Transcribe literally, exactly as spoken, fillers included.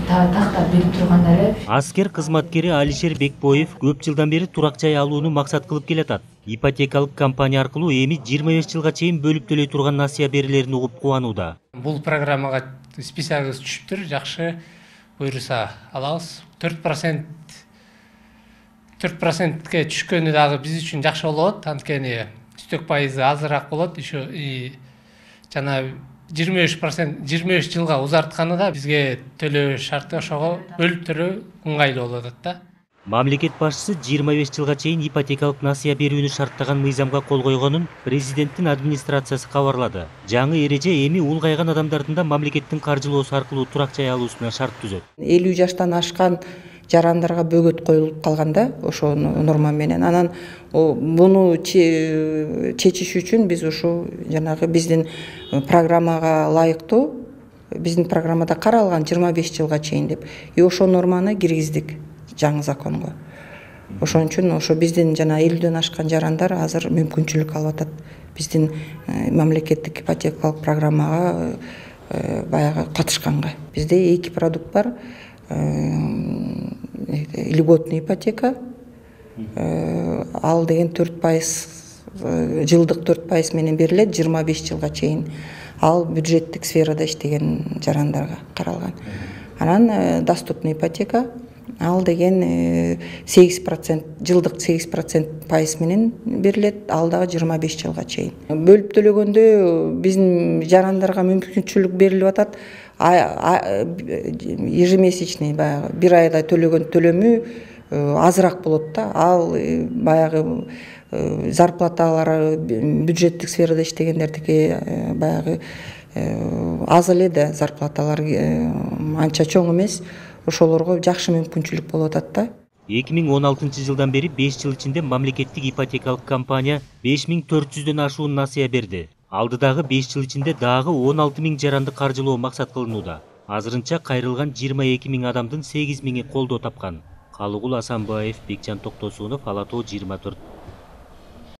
тактап берип тургандары. Аскер кызматкери Алишер Бекбоев көп жылдан бери турак жай алууну максат кылып келатат. Ипотекалык компания аркылуу эми жыйырма беш жылга чейин бөлүп төлөй турган насыя берилерин угуп кубанууда. Бул программага списагыбыз түшүптүр, жакшы буйруса алабыз. төрт процент төрт процентке түшкөнү дагы биз үчүн жакшы болот, анткени үстөк пайызы азыраак болот. Еще жана жыйырма беш процент жыйырма беш жылга узартканы да бизге төлөө шарты ошого бөлүп төлөө ыңгайлуу болот да. Мамлекет башчысы жыйырма беш жылга чейин ипотекалык насыя берүүнү шарттаган мыйзамга кол койгонун президенттин администрациясы кабарлады. Жаңы эреже эми улгайган адамдардын да мамлекеттин каржылоосу аркылуу турак жай алуусуна шарт түзөт. элүү жаштан ашкан жарандарга бөгөт коюлуп калганда ошо норма менен анан буну чечиш үчүн биз ушу жанагы биздин программага ылайыктуу биздин программада каралган жыйырма беш жылга чейин деп и ошо норманы киргиздик жаңы законго. Ошон үчүн ошо биздин жана элүүдөн ашкан жарандар азыр мүмкүнчүлүк алып атат. Биздин мамлекеттик ипотекалык программага баягы катышканга. Бизде эки продукт бар. Льготный ипотека, ал деген төрт пайыз жылдык төрт пайыз менен берилет жыйырма беш жылга чейин. Ал бюджеттик сферада иштеген жарандарга каралган. Анан доступный ипотека, ал деген сегиз процент жылдык сегиз процент пайыз менен берилет, ал дагы жыйырма беш жылга чейин. Бөлүп төлөгөндө биздин жарандарга мүмкүнчүлүк берилип атат. Ежемесячный баягы бир айда төлөгөн төлөмү азыраак болот да. Ал баягы зарплаталары бюджеттик сферада иштегендердики баягы аз эле да, зарплаталар анча чоң эмес. Ошолорго жакшы мүмкүнчүлүк болуп атат да. эки миң он алтынчы жылдан бери беш жыл ичинде мамлекеттик ипотекалык компания беш миң төрт жүздөн ашуун насыя берди. Алдыдагы беш жыл ичинде дагы он алты миң жаранды каржылоо максат кылынууда. Азырынча кайрылган жыйырма эки миң адамдын сегиз миңи колдоо тапкан. Калыгул Асанбаев, Бекжан Токтосунов, Ала Тоо жыйырма төрт.